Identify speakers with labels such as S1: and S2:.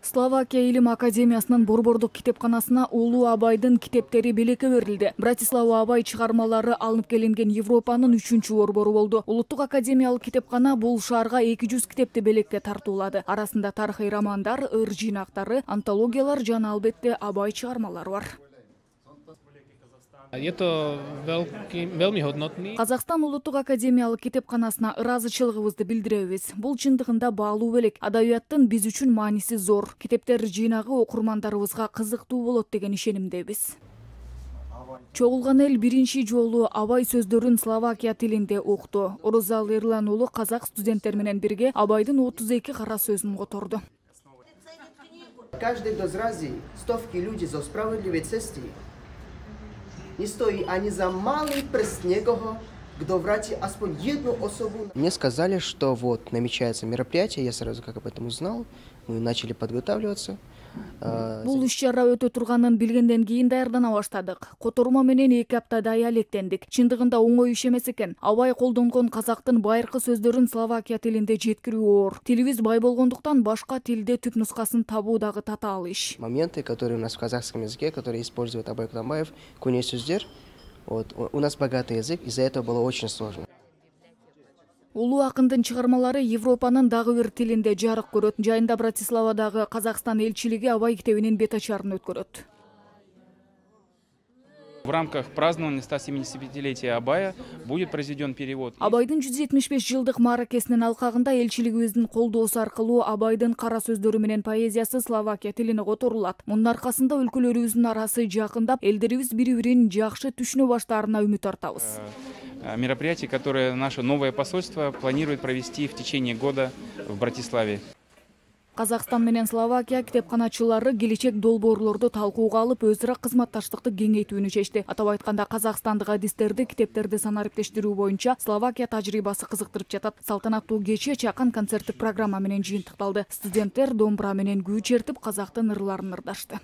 S1: Словакия Илим Академиясынын Борбордук китепканасына Улуу Абайдын китептери белекке берилди. Братислава Абай чыгармалары алынып келинген Европанын 3-чү борбору болду. Улуттук академиялык китепкана бул шаарга 200 китепти белекке тартуулады. Арасында тарыхый романдар, ыр жыйнактары, антологиялар жана албетте Абай чыгармалары бар. Казакстан Улуттук академиялык китепканасына ыраазычылыгыбызды билдиребиз. Бул чындыгында баалуу белек. Адабияттын биз үчүн мааниси зор. Китептер жыйнагы окурмандарыбызга кызыктуу болот деген ишенимдебиз. Чогулган эл биринчи жолу Абай сөздөрүн Словакия тилинде укту. Орозал Эрлан уулу казак студенттер менен бирге Абайдын 32 кара сөзүн которду.
S2: Каждый дозрази стовки люди за справедливой цести. Не стоит они за малый прст некого, кто врати аспон одну особу. Мне сказали, что вот намечается мероприятие, я сразу как об этом узнал, мы начали подготавливаться.
S1: Бул иш-чара өтө турганын билгенден кийин даярдана баштадык. Котормо менен 2 аптадай алектендик. Чындыгында оңой иш эмес экен. Абай колдонгон казактын байыркы сөздөрүн Словакия тилинде жеткирүү оор. Тилибиз бай болгондуктан башка тилде түп нускасын табуу дагы татаал иш.
S2: Моменты, которые у нас в казахском языке, которые использует Абай Кутамбаев, көне сөздөр, вот у нас богатый язык, из-за этого было очень сложно.
S1: Улуу акындын чыгармалары Европанын дагы бир тилинде жарык көрөт. Жайында Братиславадагы Казакстан элчилиги Абай китебинин бет ачарын өткөрөт.
S3: В рамках празднования 175-летия Абая будет произведен перевод.
S1: Абайдын 175 жылдык мааракесинин алкагында элчилигибиздин колдоосу аркылуу Абайдын кара сөздөрү менен поэзиясы Словакия тилине которулат. Мунун аркасында өлкөлөрүбүздүн арасы жакындап, элдерибиз бири-бирин жакшы түшүнө баштаарына үмүт артабыз.
S3: Мероприятие, которое наше новое посольство планирует провести в течение года в Братиславе.
S1: Казакстан менен Словакия китепканачылары келечек долбоорлорду талкууга алып, өз ара кызматташтыкты кеңейтүүнү чечти. Атап айтканда, казакстандык адистерди китептерди санариптештирүү боюнча Словакия тажрыйбасы кызыктырып жатат. Салтанаттуу кече чакан концерттик программа менен жыйынтыкталды. Студенттер домбура менен күү чертип, казактын ырларын ырдашты.